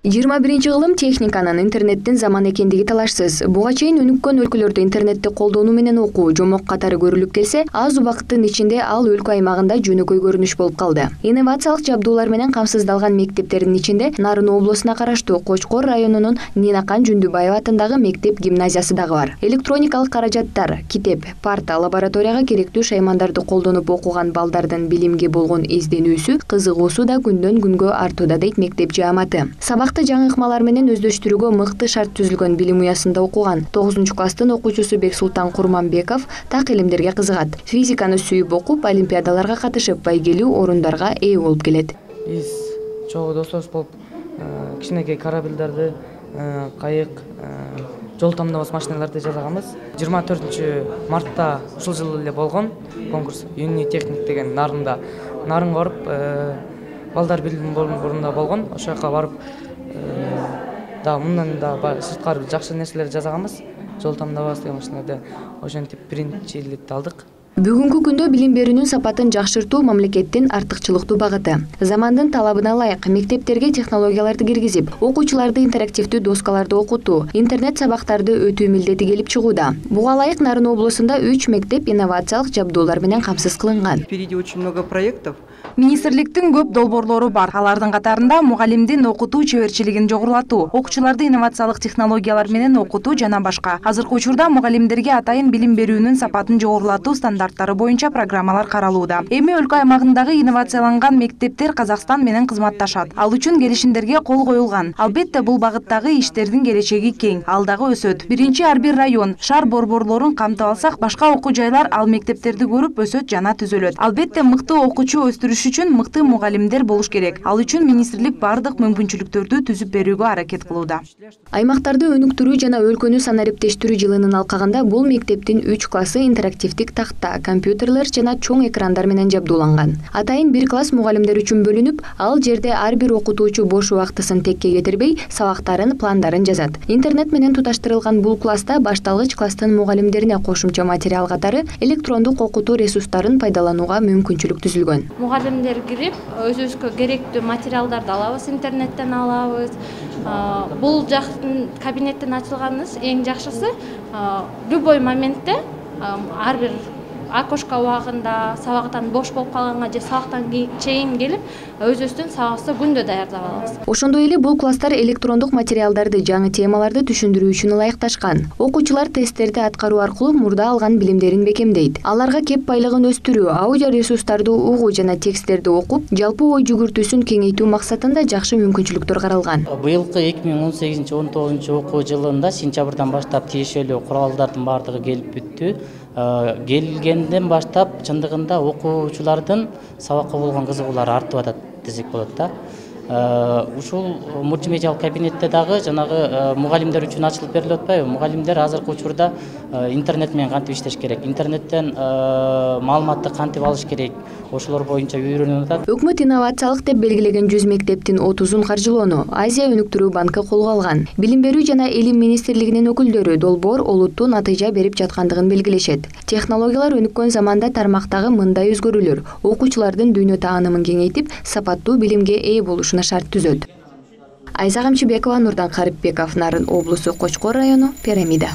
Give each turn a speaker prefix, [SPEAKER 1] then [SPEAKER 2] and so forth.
[SPEAKER 1] 21 кылым техниканын интернеттин заманы экендиги талашсыз. Буга чейин өнүккөн өлкөлөрдө интернетти колдонуу менен окуу жомок катары көрүлүп келсе, аз убакыттын ичинде ал өлкө аймагында жөнөкөй көрүнүш болуп калды. Инновациялык жабдуулар менен камсыздалган мектептердин ичинде Нарын облусуна караштуу Кочкор районунун Нинакан Жүндүбаева атындагы мектеп гимназиясы дагы бар. Электроникалык каражаттар, китеп, парта, лабораторияга керектүү шаймандарды колдонуп окуган балдардын билимге болгон изденүүсү, кызыгуусу да күндөн күнгө артууда дейт мектеп жааматы. Жаңы ыкмалар менен өздөштүрүүгө мыкты шарт түзүлгөн билим уясында окуган 9-класстын окуучусу Бексултан Курманбеков так илимдерге кызыгат. Физиканы сүйүп окуп, олимпиадаларга катышып, байгелүү орундарга ээ болуп келет.
[SPEAKER 2] Биз чогуу досдош болуп, кичинекей корабльдерди, кайык, жол тамдабас машиналарды жасаганбыз. 24-мартта ушул жылы эле болгон конкурс Юний техник деген Нарында. Нарынга барып, балдар билим борунда болгон. Ошол жака барып да мындан да сырткары жакшы нерселерди жасаганбыз. Жол тамдабас деген машиналарды ошентип биринчиликти алдык.
[SPEAKER 1] Бүгүнкү күндө билим берүүнүн сапатын жакшыртуу мамлекеттин артыкчылыктуу багыты. Замандын талабына ылайык мектептерге технологияларды киргизип, окуучуларды интерактивдүү доскаларда окутуу, интернет сабактарды өтүү милдети келип чыгууда. Буга ылайык Нарын облусунда 3 мектеп инновациялык жабдуулар менен камсыз кылынган.
[SPEAKER 3] Впереди очень много проектов.
[SPEAKER 4] Министрликтин көп долбоорлору бар. Алардын катарында мугалимдин окутуу чеберчилигин жогорулатуу, окуучуларды инновациялык технологиялар менен окутуу жана башка. Азыркы учурда мугалимдерге атайын билим берүүнүн сапатын жогорулатуу стандарттары боюнча программалар каралууда. Эми өлкө аймагындагы инновацияланган мектептер Казакстан менен кызматташат. Ал үчүн келишимдерге кол коюлган. Албетте бул багыттагы иштердин келечеги кең, ал дагы өсөт. Биринчи ар бир район, шаар борборлорун камтып алсак, башка окуу жайлар ал мектептерди көрүп өсөт жана түзөлөт. Албетте мыкты окуучу өстүрүш үчүн мыкты мугалимдер болуш керек. Ал үчүн министрлик бардык мүмкүнчүлүктөрдү түзүп берүүгө аракет кылууда.
[SPEAKER 1] Аймактарды өнүктүрүү жана өлкөнү санариптештирүү жылынын алкагында бул мектептин 3 классы интерактивдик такта, компьютерлер жана чоң экрандар менен жабдууланган. Атайын 1 класс мугалимдер үчүн бөлүнүп, ал жерде ар бир окутуучу бош убактысын текке кетирбей, сабактарын, пландарын жазат. Интернет менен туташтырылган бул класста башталгыч класстын мугалимдерине кошумча материал катары электрондук окутуу ресурстарын пайдаланууга мүмкүнчүлүк түзүлгөн.
[SPEAKER 5] Мугалимдер кирип, өзүбүзгө керектүү материалдарды алабыз, интернеттен алабыз. Бул жактын кабинеттен ачылганыбыз эң жакшысы любой моментте ар бир окошко убагында, сабактан бош болуп калганга же сабактан чейин келип, өзүбүздүн сабагыбызды күндө даярдап алабыз.
[SPEAKER 1] Ошондой эле бул класстар электрондук материалдарды, жаңы темаларды түшүндүрүү үчүн ылайыкташкан. Окуучулар тесттерди аткаруу аркылуу мурда алган билимдерин бекемдейт. Аларга кеп байлыгын өстүрүү, аудио ресурстарды угуу жана тексттерди окуп, жалпы ой жүгүртүүсүн кеңейтүү максатында жакшы мүмкүнчүлүктөр каралган.
[SPEAKER 6] Быйылкы 2018-19 окуу жылында сентябрдан баштап тиешелүү куралдардын бардыгы келип бүттү. Келгенден баштап чындыгында окуучулардын сабакка болгон кызыгуулары артып атат десек болот да. Ушул мультимедиалык кабинетте дагы жанагы мугалимдер үчүн ачылып берилип атпайбы? Мугалимдер азыркы учурда интернет менен кантип иштеш керек, интернеттен маалыматты кантип алыш керек, ошолор боюнча үйрөнүп атат.
[SPEAKER 1] Өкмөт инновациялык деп белгилеген 100 мектептин 30-ун каржылоону Азия өнүктүрүү банкы колго алган. Билим берүү жана илим министрлигинин өкүлдөрү долбоор олуттуу натыйжа берип жаткандыгын белгилешет. Технологиялар өнүккөн заманда тармактагы мындай өзгөрүүлөр окуучулардын дүйнө таанымын кеңейтип, сапаттуу билимге ээ болушуна шарт түзөт. Айза Камчыбекова, Нурдан Карипбеков, Нарын облусу, Кочкор району, Пирамида.